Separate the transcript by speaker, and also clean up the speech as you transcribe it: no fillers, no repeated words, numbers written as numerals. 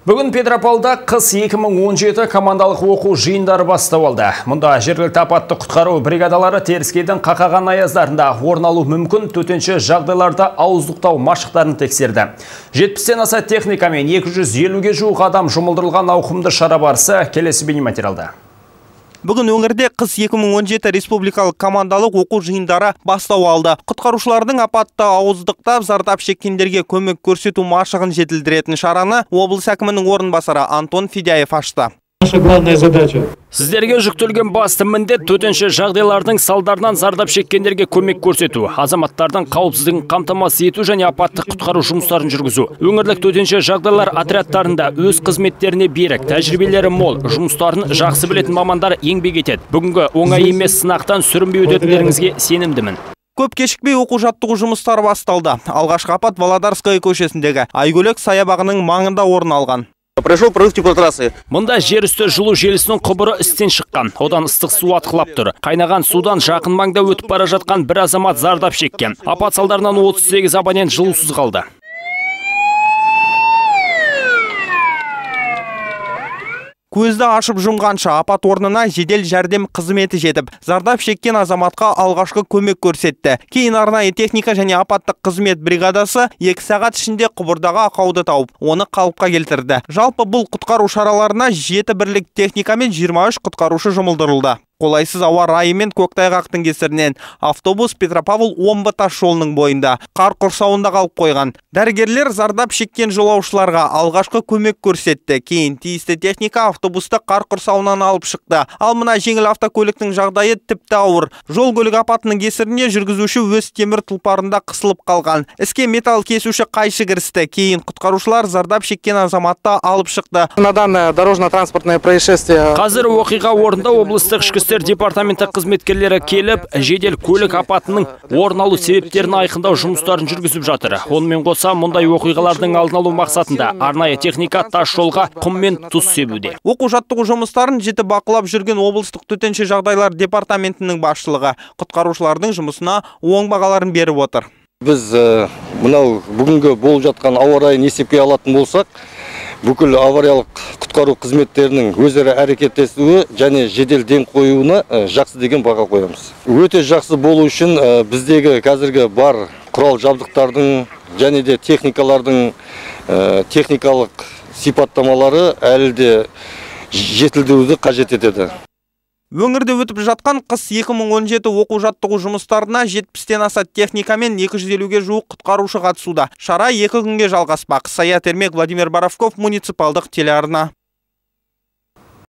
Speaker 1: Бүгін Петропавлда қыс 2017 командалық оқу жиындары бастау алды. Мұнда жергілікті апатты құтқару бригадалары теріскейдің қақаған аяздарында орын алу мүмкін төтенше жағдайларда ауыздықтау машықтарын тексерді. 70-тен аса техника мен 250-ге жуық адам жұмылдырылған ауқымды шара барысы келесі бейнематериалда.
Speaker 2: Бүгін өңірде қыс 2017 республикалық командалық оқу жиындары бастау алды. Құтқарушылардың апатты ауыздықтап, зардап шеккендерге көмек көрсету машығын жетілдіретін шараны облыс әкімінің орынбасары Антон Федяев ашты.
Speaker 3: Наша главная задача.
Speaker 1: Сіздерге жүктелген басты міндет төтенше жағдайлардың салдарынан зардап шеккендерге көмек көрсету, азаматтардың қауіпсіздігін қамтамасыз ету және апатты құтқару жұмыстарын жүргізу. Өңірлік төтенше жағдайлар отрядтарында өз қызметтеріне берік, тәжірибелері мол, жұмыстарын жақсы білетін мамандар еңбек етеді. Бүгінгі оңай емес сынақтан сүрінбей өтетіндеріңізге сенімдімін.
Speaker 2: Көп кешікпей оқу-жаттығу жұмыстары басталды. Алғашқы апат Володарская көшесіндегі Айгөлек саябағының маңында орын алған.
Speaker 4: Прошел прорыв теплотрассы.
Speaker 1: Мұнда жер үсті жылу желісінің құбыры істен шыққан. Одан ыстық су атқылап тұр. Қайнаған судан жақын маңда өтіп бара жатқан бір азамат зардап шеккен. Апат салдарынан 38 абонент жылусыз қалды.
Speaker 2: Көзді ашып жұмғанша апат орнына жедел жәрдем қызметі жетіп, зардап шеккен азаматқа алғашқы көмек көрсетті. Кейін арнайы техника және апаттық қызмет бригадасы 2 сағат ішінде құбырдағы ақауды тауып, оны қалыпқа келтірді. Жалпы бұл құтқару шараларына 7 бірлік техника мен 23 құтқарушы жұмылдырылды. Қолайсыз ауа райы мен көктайғақтың кесірінен автобус Петропавл-Омбы тас жолының бойында қар құрсауында қалып қойған. Дәрігерлер зардап шеккен жолаушыларға алғашқы көмек көрсетті. Кейін тиісті техника автобусты қар құрсауынан алып шықты. Ал мына жеңіл автокөліктің жағдайы тіпті ауыр. Жол көлік апатының кесірінен жүргізуші өз темір тұлпарында қысылып қалған. Іске металл кесуші қайшы кірісті. Кейін құтқарушылар зардап шеккен азаматты алып шықты.
Speaker 4: На данное дорожно-транспортное происшествие.
Speaker 1: Қазір оқиға орнында облыстық ішкі департаменті қызметкерлері келіп, жедел көлік апатының орын алу себептерін айқындау жұмыстарын жүргізіп жатыр. Онымен қоса мұндай оқиғалардың алдын алу мақсатында арнайы техника тас жолға құм мен тұз себуде.
Speaker 2: Оқу-жаттығу жұмыстарын жіті бақылап жүрген облыстық төтенше жағдайлар департаментінің басшылығы құтқарушылардың жұмысына оң бағаларын беріп отыр.
Speaker 5: Біз мынау бүгінгі болып жатқан ауа райын есепке алатын болсақ, бүкіл авариялық құтқару қызметтерінің өзара әрекеттесуі және жедел ден қоюына жақсы деген баға қоямыз. Өте жақсы болу үшін біздегі қазіргі бар құрал жабдықтардың және де техникалардың техникалық сипаттамалары әлі де жетілдіруді қажет етеді.
Speaker 2: Өңірде өтіп жатқан қыс 2017 оқу-жаттығу жұмыстарына 70-тен аса техника мен 250-ге жуық құтқарушы қатысуда. Шара 2 күнге жалғаспақ. Саят Ермек, Владимир Боровков, муниципалдық телеарна.